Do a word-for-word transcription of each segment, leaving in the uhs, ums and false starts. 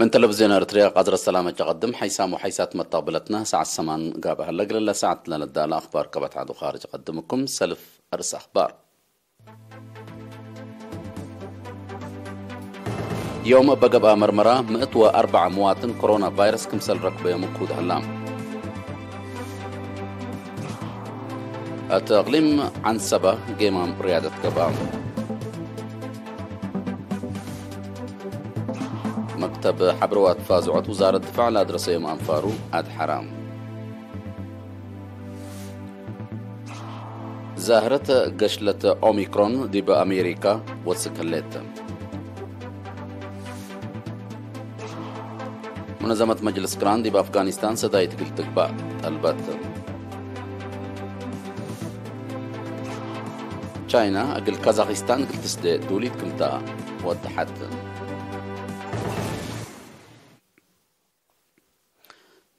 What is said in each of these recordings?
ምን ተለቪዝዮን ኤረትርያ ቀዝረ ሰላመ ጀቀድም ሓይሳም ወሓይሳት መተቅብለትነ ሰዓት ሰማን ጋብእ ሀለ። እግለ ለሰዓት ለነዳለ አኽባር ከበት ዐዱ ካርጅ ቀድምኩም ሰልፍ አርስ አኽባር። ዮም እበ ገብአ መርመራ ምእት ወአርበዕ መዋጥን ኮሮና ቫይረስ ክምሰል ረክበዮም እኩድ ሀላ። እት እቅሊም ዐንሰበ ጌማም ርያደት ገብአ። መክተብ ሐብር ወአትፋዝዖት ውዛረት ድፋዕ ለአድረሰዮም አንፋሩ አድሐራ። ዛህረት ገሽለት ኦሚክሮን ዲብ አሜሪካ ወስክ ህሌት። ሙነዘመት መጅልስ ቅራን ዲብ አፍጋኒስታን ሰዳይት እግል ትግባእ ጠልበት። ቻይና እግል ካዛኪስታን እግል ትስዴ ዱሊት ክምታ ወደሐት።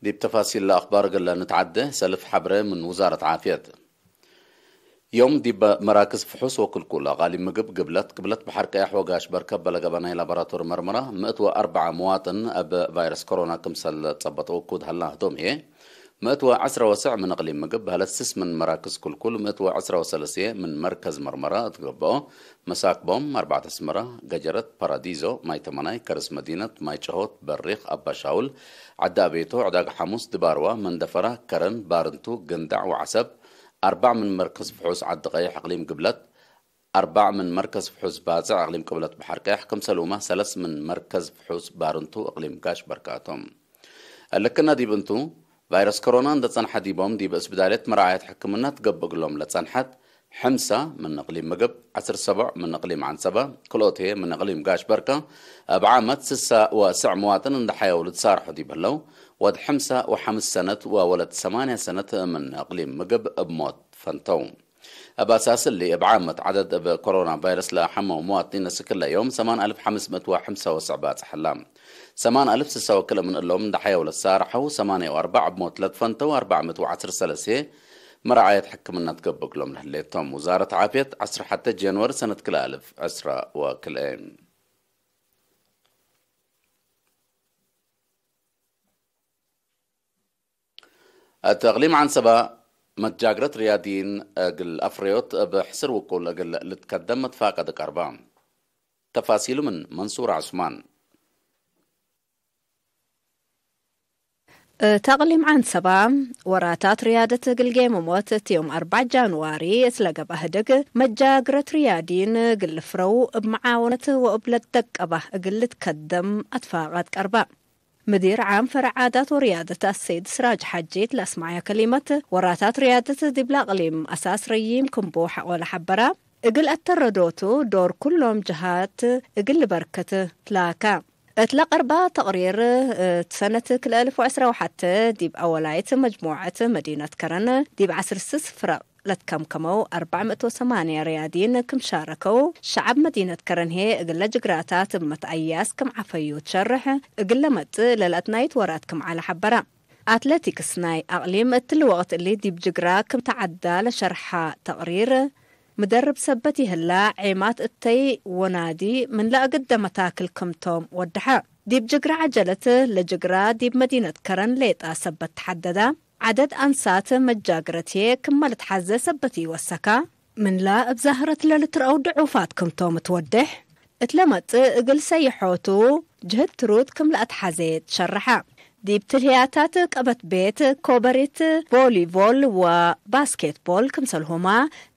ዲብ ተፋሲል ለአኽባር እግል ንትዓደ፣ ሰልፍ ሐብረ ምን ውዛረት ዓፍየት። ዮም ዲብ መራክዝ ፍሑስ ወክልኩል አቃሊም ምግብ ግብለት፣ ቅብለት በሐር ቀያሕ ወጋሽ በርከ በለገበ ናይ ላቦራቶሪ መርመራ፣ ምእት ወአርበዕ መዋጥን እብ ቫይረስ ኮሮና ክምሰል ጸበጠው እኩድ ሀላ። ህቶም ህዬ፣ ምእት ወዐስረ ወሰዕ ምን እቅሊም ምግብ በህለት ስስ ምን መራክዝ ክልኩል፣ ምእት ወዐስረ ወሰለስየ ምን መርከዝ መርመራ እት ገብኦ፣ መሳክቦም፣ አርበዕት አስመራ፣ ገጀረት፣ ፓራዲዞ፣ ማይ ተመናይ፣ ከርስ መዲነት፣ ማይ ጨሆት፣ በሪኽ፣ አባሻውል፣ ዐዲ አቤቶ፣ ዕዳግ ሐሙስ፣ ድባርዋ፣ መንደፈራ፣ ከረን፣ ባርንቱ፣ ገንዳዕ ወዐሰብ፣ አርባዕ ምን መርከዝ ፍሑስ ዐዲ ቀይሕ እቅሊም ግብለት፣ አርባዕ ምን መርከዝ ፍሑስ ባጽዕ እቅሊም ቅብለት በሐር ቀያሕ፣ ክምሰልሁመ ሰለስ ምን መርከዝ ፍሑስ ባርንቱ እቅሊም ጋሽ በርካቶም። እልክነ ዲብ እንቱ፣ ቫይረስ ኮሮና እንደ ጸንሐ ዲቦም ዲብ እስብዳልየት መርዓየት ሕክምና ትገብእ እግሎም ለጸንሐት፣ ሕምሳ ምን እቅሊም ምግብ፣ ዐስር ሰቦዕ ምን እቅሊም ዐንሰበ፣ ክልኦት ህዬ ምን እቅሊም ጋሽ በርከ፣ እብ ዓመት ስሳ ወሰዕ መዋጥን እንደ ሐየው ልትሳርሑ ዲብ ህለው፣ ወድ ሕምሳ ወሐምስ ሰነት ወወለት ሰማንያ ሰነት ምን እቅሊም ምግብ እብ ሞት ፈንተው። እብ አሳስ እሊ፣ እብ ዓመት ዐደድ እብ ኮሮና ቫይረስ ለሐመው መዋጥኒን እስክለ ዮም ሰማን አልፍ ሐምስ ምእት ወሐምሳ ወሰዕ ባጽሕ ህላ። ሰማን አልፍ ስሳ ወክልኤ ምን እሎም እንደ ሐየው ለትሳርሐው፣ ሰማንያ ወአርበዕ እብ ሞት ለትፈንተው፣ አርበዕ ምእት ወዐስር ሰለስየ መርዓየት ሕክምና ትገብእ እግሎም ለህሌቶም። ውዛረት ዓፍየት፣ ዐስር ሐተ ጃንዋሪ ሰነት ክልኤ አልፍ ዕስራ ወክልኤ። እት እቅሊም ዐንሰበ መጃግረት ርያድይን እግል አፍረዮት እብ ሕስር ውቁል እግል ልትከደም መትፋቀድ ቀርበ። ተፋሲሉ ምን መንሱር ዑስማን። እት እቅሊም ዐንሰበ ወራታት ርያደት እግል ጌመሞት እት ዮም አርበዕ ጃንዋሪ እት ለገብአ ህድግ መጃግረት ርያድይን እግል ልፍረው እብ መዓወነት ወእብ ለትደቀበ እግል ልትከደም አትፋቀድ ቀርበ። ምዲር ዓም ፈረዕ ዓዳት ወርያደት አሰይድ ስራጅ ሐጂ እት ለአስመዐየ ከሊመት፣ ወራታት ርያደት ዲብለ አቅሊም አሳስ ረዪም ክም ቡ ሐቆለ ሐበረ። እግል አተረዶቱ ዶር ኩሎም ጀሃት እግል ልበርክት ትላከ። እት ለቀርበ ተቅሪር፣ እት ሰነት ክልኤ አልፍ ወዕስራ ወሐተ ዲብ አወላይት መጅሙዐት መዲነት ከረን ዲብ ዐስር ስስ ፍረቅ ለትከምከመው አርበዕ ምእት ወሰማንያ ርያድይን ክም ሻረከው፣ ሸዐብ መዲነት ከረን ህዬ እግለ ጅግራታት እብ መትአያስ ክም ዐፈዩ ትሸርሕ፣ እግለ መጽእ ለለአትናይት ወራት ክም ዐለ ሐበረ። አትሌቲክስ ናይ አቅሊም እትሊ ወቅት እሊ ዲብ ጅግራ ክም ተዐዳ ለሸርሐ ተቅሪር፣ ምደርብ ሰበት ይህላ ዔማት እተይ ወናዲ ምን ለአግደ መታክል ክምቶም ወደሐ። ዲብ ጅግራ ዐጀለት ለጅግራ ዲብ መዲነት ከረን ሌጣ ሰበት ተሐደዳ። ዐደድ አንሳት መጃግረት ህዬ ክመ ልትሐዜ ሰበት ኢወሰካ። ምንላ እብ ዛህረት ለልትረአው ድዑፋት ክምቶም ትወዴሕ። እት ለመጽእ እግል ሰይሖቱ ጅህድ ትሩድ ክም ለአትሐዜ ትሸርሐ። ዲብ ትልህያታት ቀበት ቤት፣ ኮበሪት፣ ቮሊቮል ወባስኬትቦል ክምሰልሁመ፣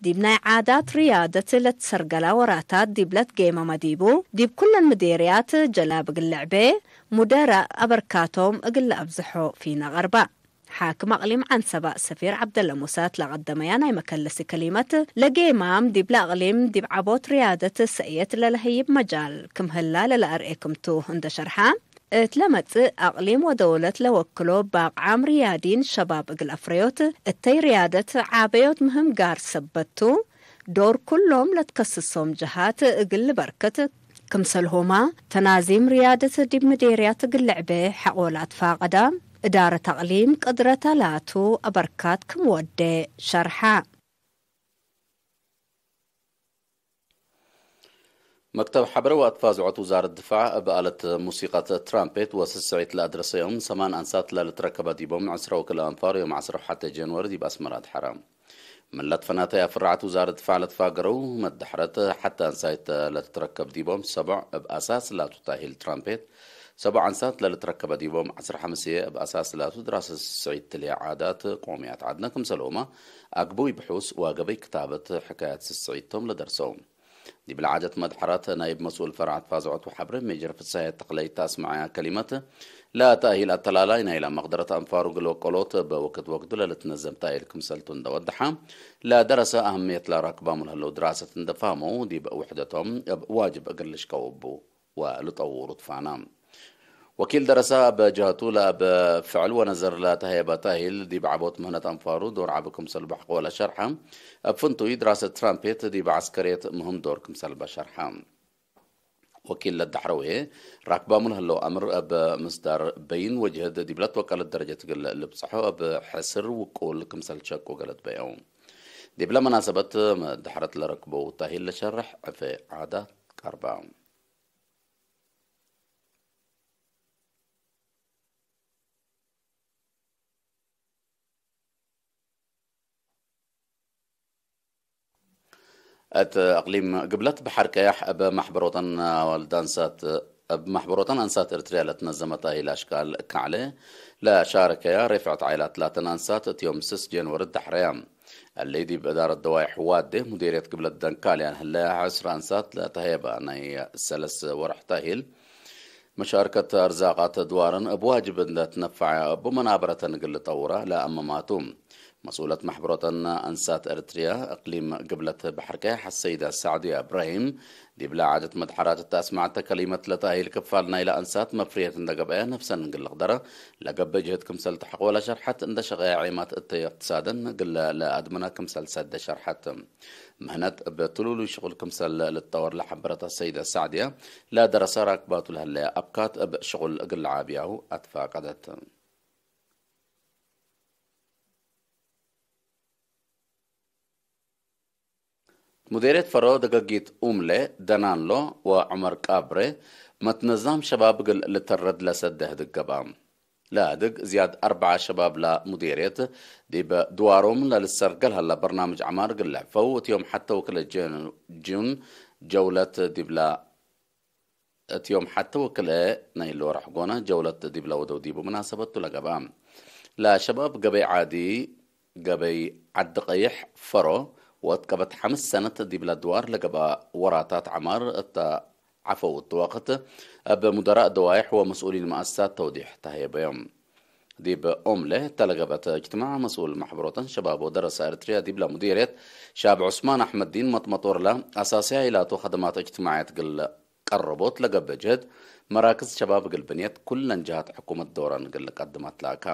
ዲብ ናይ ዓዳት ርያደት ለትሰርገላ ወራታት ዲብ ለትጌመመ ዲቡ፣ ዲብ ኩለን ምዴርያት ጀላብ እግል ልዕቤ፣ ሙደራእ አበርካቶም እግል ለአብዝሖ ፊነ ቀርበ። ሓክም አቅሊም ዐንሰበ ሰፊር ዐብደለ ሙሰ እት ለቀደመያ ናይ መከለሲ ከሊመት፣ ለጌማም ዲብለ አቅሊም ዲብ ዐቦት ርያደት ሰእየት ለለህይብ መጃል ክም ህላ ለለአርኤ ክምቱ እንደ ሸርሐ፣ እት ለመጽእ አቅሊም ወደውለት ለወክሎ ባቅዓም ርያዲን ሸባብ እግል አፍረዮት እተይ ርያደት ዓበዮት ምህም ጋር ሰበት ቱ፣ ዶር ኩሎም ለትከስሶም ጀሃት እግል ልበርክት፣ ክምሰልሁመ ተናዚም ርያደት ዲብ ምዴርያት እግል ልዕቤ ሐቆ ለአትፋቀደ፣ እዳረት አቅሊም ቅድረተ ላቱ አበርካት ክም ወዴ ሸርሐ። መክተብ ሐበረ ወአትፋዝዖት ውዛረት ድፋዕ እብ አለት ሙሲቀት ትራምፔት ወስስዒት ለአድረሰዮም ሰማን አንሳት ለልትረከበ ዲቦም ዕስረ ወክልኤ አንፋር ዮም ዐስር ወሐቴ ጀንወሪ ዲብ አስመራ አድሐረ። ምን ለትፈናተ አፍራዐት ውዛረት ድፋዕ ለትፋገረው መዳሕረት ሐተ አንሳይት ለትትረከብ ዲቦም ሰቦዕ እብ አሳስ ላቱ ታሂል ትራምፔት፣ ሰቦዕ አንሳት ለልትረከበ ዲቦም ዐስር ሐምስየ እብ አሳስ ላቱ ድራሰት ስስዒት ትልሄ ዓዳት ቆምያት ዐድነ ክምሰልሁመ አግቡይ ብሑስ ወገበይ ክታበት ሕካያት ስስዒት ቶም ለደርሰው። ዲብለ ዓደት መድሐረት ናይብ መስኡል ፈርዐ ተፋዘዖት ወሐብረ ሜጀር ፍስሐየ ተክለይ ተአስመዐያ ከሊመት፣ ለተእሂል አተላላይ ናይላ መቅደረት አንፋሩ እግል ወቀሎት እብ ወክድ ወክዱ ለልትነዘም ተእሂል ክምሰልቱ እንደ ወደሐ፣ ለደረሰ አህምየት ለራክባሙ ለህለው ድራሰት እንደ ፋህመው ዲብ ውሕደቶም እብ ዋጅብ እግል ልሽቀው እቡ ወልጠውሩ ትፋና። ወኪል ደረሰ እብ ጀህቱ ለእብ ፍዕል ወነዘር ለተሀየበ ተእሂል ዲብ ዐቦት ምህነት አንፋሩ ዶር ዐቢ ክምሰል በሐቆ ለሸርሐ፣ እብ ፍንቱይ ድራሰት ትራምፔት ዲብ ዐስከርየት ምህም ዶር ክምሰል በሸርሐ። ወኪል ለዳሕረዌ ራክባሙ ለህለው አምር እብ ምስዳር በይን ወጅህድ ዲብ ለትወቀለት ደረጀት እግል ልብጽሖ እብ ሕስር ውቁል ክምሰል ሸቁ ገለት በየው። ዲብለ መናሰበት መዳሕረት ለረክበው ተእሂል ለሸርሕ ዕፌ ዓዳት ቀርበ። እት እቅሊም ግብለት በሐር ቀያሕ እብ መሕበሮተን ወልድ አንሳት፣ እብ መሕበሮተን አንሳት ኤርትርያ ለትነዘመ ተእሂል አሽቃል ከዕለ ለሻረከያ ሬፍዐት ዓኢላት ላተን አንሳት እት ዮም ስስ ጀንወሪ ደሐረያ። እሊ ዲብ እዳረት ደዋይሕ ዋዴ ሙዴርየት ግብለት ደንካልያን ህለ ዐስር አንሳት ለተሀየበ ናይ ሰለስ ወርሕ ተእሂል፣ መሻርከት አርዛቃት ድዋርን እብ ዋጅብ እንደ ትነፈዐ እቡ መናበረተን እግል ልጠውራ ለአመማቱ። መስኡለት መሕበሮተን አንሳት ኤርትርያ እቅሊም ግብለት በሐር ቀያሕ አሰይደ ሳዕድያ እብራሂም፣ ዲብለ ዓደት መድሐራት እተ አስመዐተ ከሊመት ለተእሂል ክፋል ናይለ አንሳት መፍርየት እንደ ገብአየ ነፍሰን እግል ልቅደረ ለገብእ ጅህድ ክምሰል ተሐቆ ለሸርሐት፣ እንደ ሸቀየ ዔማት እተ እቅትሳደን እግል ለአድምነ ክምሰል ሰደ ሸርሐት። ምህነት እብ ትሉሉይ ሽቁል ክምሰል ልትጠወር ለሐበረት አሰይደ ሳዕድያ፣ ለደረሰ ራክባቱ ለህለየ አብካት እብ ሽቁል እግል ለዓብያሁ አትፋቀደት። ሙዴርየት ፈሮ ደገጊት ኡምሌ፣ ደናንሎ ወዑመር ቃብሬ መትነዛም ሸባብ እግል ልተረድ ለሰደ ህድግ ገብአ። ለህድግ ዝያድ አርበዓ ሸባብ ለሙዴርየት ዲብ ድዋሮም ለልሰርገል ሀላ በርናምጅ ዐማር እግል ልሕፈው እት ዮም ሐተ ወክልኤ ጀን-፣ ጁን ጀውለት ዲብላ እት ዮም ሐተ ወክልኤ ናይለ ወርሕ ጎነ ጀውለት ዲብለ ወደው ዲቡ ምናሰበቱ ለገብአ። ለሸባብ ገበይ ዓዲ፣ ገበይ ዓዲ ቀይሕ ፈሮ ወእት ቀበት ሐምስ ሰነት ዲብለ ድዋር ለገብአ ወራታት ዐማር እተ ዐፈው እቱ ወቅት እብ ሙደራእ ደዋይሕ ወመስኡሊን መአሰሳት ተውዲሕ ተሀየበዮም። ዲብ ኦምሌ እተ ለገብአት እጅትማዕ መስኡል መሕበሮተን ሸባብ ወደረሰ ኤርትርያ ዲብለ ሙዲርየት ሻብ ዑስማን አሕመድዲን መጥመጦር ለአሳስያይ ላቱ ከደማት እጅትማዕየት እግል ቀረቦት ለገብእ ጅህድ፣ መራክዝ ሸባብ እግል ብንየት ኩለን ጀሃት ሕኩመት ዶረን እግል ልቀድም አትላከ።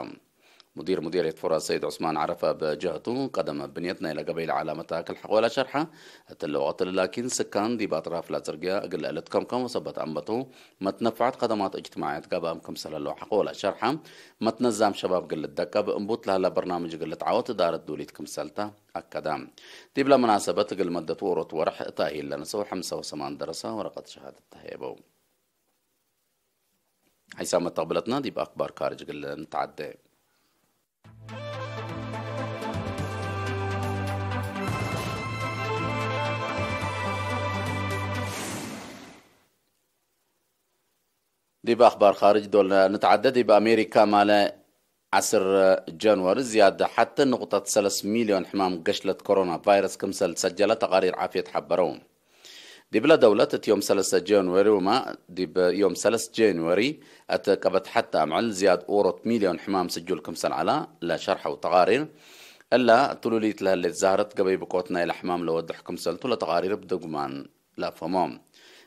ሙዲር ሙዲርየት ፈሮ ሰይድ ዑስማን ዐረፈ እብ ጀህቱ፣ ቀደም ብንየት ናይለ ገበይ ለዐለ መታክል ሐቆለ ሸርሐ፣ እትለ ወቅት ላኪን ስካን ዲብ አጥራፍ ለጽርግያ እግል ልትከምከም ወሰበት አንበቱ መትነፈዐት ከደማት እጅትማዕየት ገብአም ክምሰል ህለው ሐቆለ ሸርሐ፣ መትነዛም ሸባብ እግል ልደቀብ እምቡት ለህለ በርናምጅ እግል ልትዓወት እዳረት ዱሊት ክምሰልተ አከደ። ዲብለ መናሰበት እግል መደት ዎሮት ወርሕ ተእሂል ለነሰው ሐምሳ ወሰማን ደረሰ ወረቀት ሸሃደት ተሀየበው። ሐይሳም መተቅብለትና ዲብ አክባር ካርጅ እግል ንትዓደ። ዲብ አክባር ካርጅ ዶል ንትዓደ። ዲብ አሜሪካ ማለ ዐስር ጀንወሪ ዝያድ ሐተ ንቁጠት ሰለስ ሚልዮን ሕማም ገሽለት ኮሮና ቫይረስ ክምሰል ሰጀለ ተቃሪር ዓፍየት ሐበረው። ዲብለ ደውለት እት ዮም ሰለሰ ጀንወሪ ወማ ዲብ ዮም ሰለስ ጀንወሪ እት ቀበት ሐተ አምዕል ዝያድ ዎሮት ሚልዮን ሕማም ስጁል ክምሰል ዐላ ለሸርሐው ተቃሪር፣ እላ ትሉሊት ለህሌት ዛህረት ገበይ ብቆት ናይለ ሕማም ለወድሕ ክምሰልቱ ለተቃሪር ብድጉማን ለአፈሞ።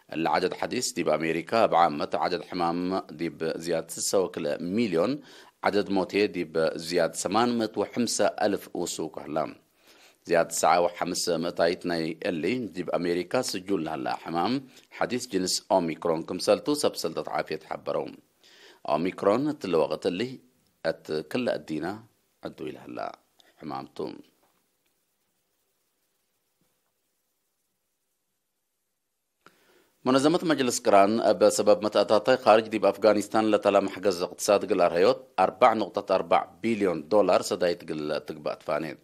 እሊ ዐደድ ሐዲስ ዲብ አሜሪካ እብ ዓመት ዐደድ ሕማም ዲብ ዝያድ ስሰ ወክልኤ ሚልዮን፣ ዐደድ ሞቴ ዲብ ዝያድ ሰማን ምእት ወሐምሰ አልፍ ውሱክ ህለ። ዝያድ ሰዓ ወሐምስ ምእታይት ናይ እሊ ዲብ አሜሪካ ስጁል ለሀለ ሕማም ሐዲስ ጅንስ ኦሚክሮን ክምሰልቱ ሰብ ሰልጠት ዓፍየት ሐበረው። ኦሚክሮን እትለ ወቅት እሊ እት ክለ እዲነ ዕዱይ ለሀለ ሕማም ቱ። መነዘመት መጅልስ ቅራን እብ ሰበብ መትአታታይ ካርጅ ዲብ አፍጋኒስታን ለተላ መሕገዝ እቅትሳድ እግል አርሀዮት አርበዕ ንቁጠት አርበዕ ቢልዮን ዶላር ሰዳይት እግል ትግበእ ትፋኔት።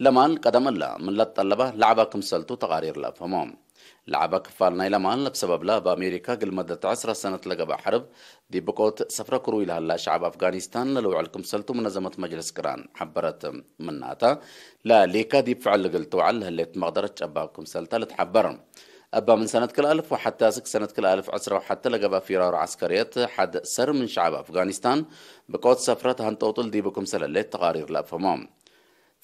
ለማል ቀደም እለ ምን ለትጠለበ ለዐበ ክምሰልቱ ተቃሪር ለአፍህሞ። ለዐበ ክፋል ናይለ ማል እብ ሰበብለ እብ አሜሪካ እግል መደት ዐስረ ሰነት ለገብአ ሐርብ ዲብ ብቆት ሰፍረ ክሩይ ለሀላ ሸዐብ አፍጋኒስታን ለልውዕል ክምሰልቱ መነዘመት መጅልስ ቅራን ሐበረት። ምናተ፣ ለሌከ ዲብ ፍዕል እግል ትውዐል ለህሌት መቅደረት ጨባብ ክምሰልተ ልትሐበር። እበ ምን ሰነት ክልአልፍ ወሐቴ አስክ ሰነት ክልአልፍ ዕስረ ወሐቴ ለገብአ ፊራሮ ዐስከርየት ሐድ ሰር ምን ሸዐብ አፍጋኒስታን ብቆት ሰፍረት ሀንጠውጡል ዲቡ ክምሰል ህሌት ተቃሪር ለአፍህሞ።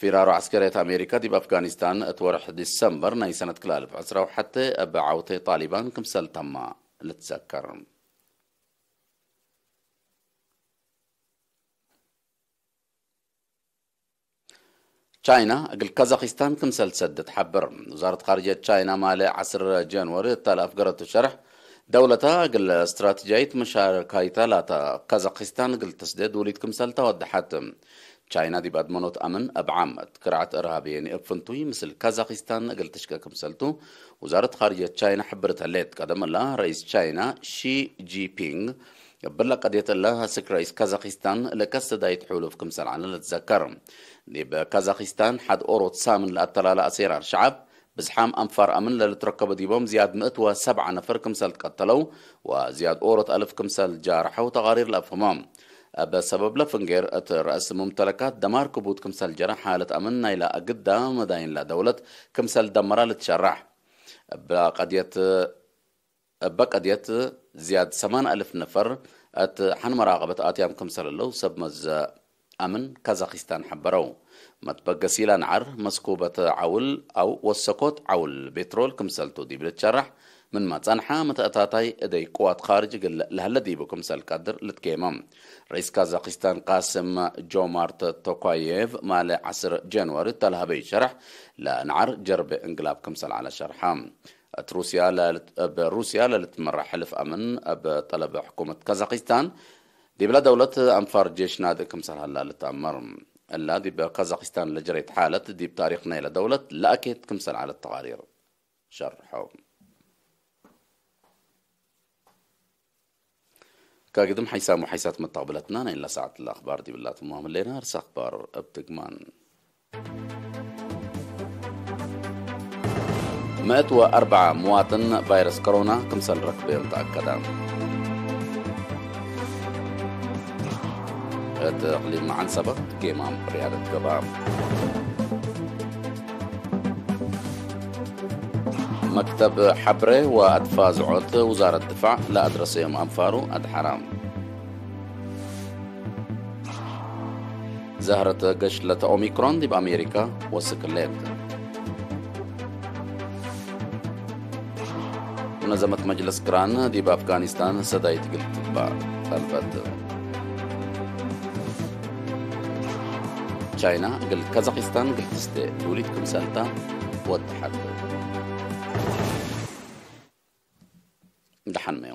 ፊራሮ ዐስከርየት አሜሪካ ዲብ አፍጋኒስታን እት ወርሕ ዲሰምበር ናይ ሰነት ክልአልፍ ዕስረ ወሐቴ እብ ዐውቴ ጣሊባን ክምሰል ተማ ልትዘከር። ቻይና እግል ካዛኪስታን ክምሰል ትሰድድ ሐብር። ውዛረት ካርጅየት ቻይና ማሌ ዐስር ጀንወሪ እተ ለአፍገረቱ ሸርሕ፣ ደውለታ እግል ስትራተጂያይት መሻረካይታ ላተ ካዛኪስታን እግል ትስዴ ዱሊት ክምሰልታ ወደሐት። ቻይና ዲብ አድመኖት አምን እብ ዓም እት ክርዐት እርሃብየኒ እብ ፍንቱይ ምስል ካዛኪስታን እግል ትሽቄ ክምሰልቱ ውዛረት ካርጅየት ቻይና ሐብርት ህሌት። ቀደም እለ ረኢስ ቻይና ሺ ጂፒንግ እብለ ቀድየት እለ አስክ ረኢስ ካዛኪስታን ለከሰዳይት ሑሉፍ ክምሰል ዐለ ልትዘከር። ዲብ ካዛኪስታን ሐድ ኦሮት ሳምን ለአተላለ አሴራር ሸዐብ ብዝሓም አንፋር አምን ለልትረከቡ ዲቦም ዝያድ ምእት ወሰብዐ ነፈር ክምሰል ትቀተለው ወዝያድ ኦሮት አልፍ ክምሰል ጃርሐው ተቃሪር ለአፍህሞ። እብ ሰበብለ ፍንጌር እት ረአስ ሙምተለካት ደማር ክቡድ ክምሰል ጀረ ሓለት አምን ናይለ አግዳ መዳይን ለደውለት ክምሰል ደመራ ልትሸራሕ። እብ ቀድየት እበ ቀድየት ዝያድ ሰማን አልፍ ነፈር እት ሐን መራቀበት አትያም ክምሰል ህለው ሰብ መዘ አምን ካዛኪስታን ሐበረው። መትበገሲላ ነዓር መስኩበት ዐውል አው ወሰኮት ዐውል ቤትሮል ክምሰልቱ ዲብ ልትሸራሕ ምንመ ጸንሐ፣ መተአታታይ እደይ ቅዋት ካርጅ እግል ለሀለ ዲቡ ክምሰል ቀድር ልትጌመ። ረኢስ ካዛኪስታን ቃስም ጆማርት ቶካዬቭ ማለ ዐስር ጀንዋሪ እተ ለሀበዩ ሸርሕ፣ ለነዓር ጀርቤ እንግላብ ክምሰል ዐለ ሸርሐ። እት ሩስያ ለልት-፣ እብ ሩስያ ለልትመራሕ ሕልፍ አምን እብ ጠለብ ሕኩመት ካዛኪስታን፣ ዲብለ ደውለት አንፋር ጄሽ ናድእ ክምሰል ሀላ ልትአመር። እላ ዲብ ካዛኪስታን ለጀሬት ሓለት፣ ዲብ ታሪክ ናይለ ደውለት ለአኬት ክምሰል ዐለት ተቃሪር ሸርሖ። ከግድም ሐይሳም ወሐይሳት መተቅብለትና፣ ናይላ ሰዓት ለአክባር ዲብላ ትማም ህሌና። እርስ አክባር እብ ትግማን። ምእት ወአርበዓ ምዋጥን ቫይረስ ኮሮና ክምሰል ረክበዮም ተአከደ። እት እቅሊም መዓንሰበ ጌማም ርያደት ገብአ። መክተብ ሐብሬ ወአድፋ ዝዖት ውዛረት ድፋዕ ለአድረሰዮም አንፋሩ አድሐራ። ዘህረት ገሽለተ ኦሚክሮን ዲብ አሜሪካ ወስክ ህሌት። መነዘመት መጅልስ ቅራን ዲብ አፍጋኒስታን ሰዳይት እግል ትግባእ ጠልበት። ቻይና እግል ካዛኪስታን እግል ትስቴ ዱሊት ክምሰልታ ወደሐት። ደሐንመዩ።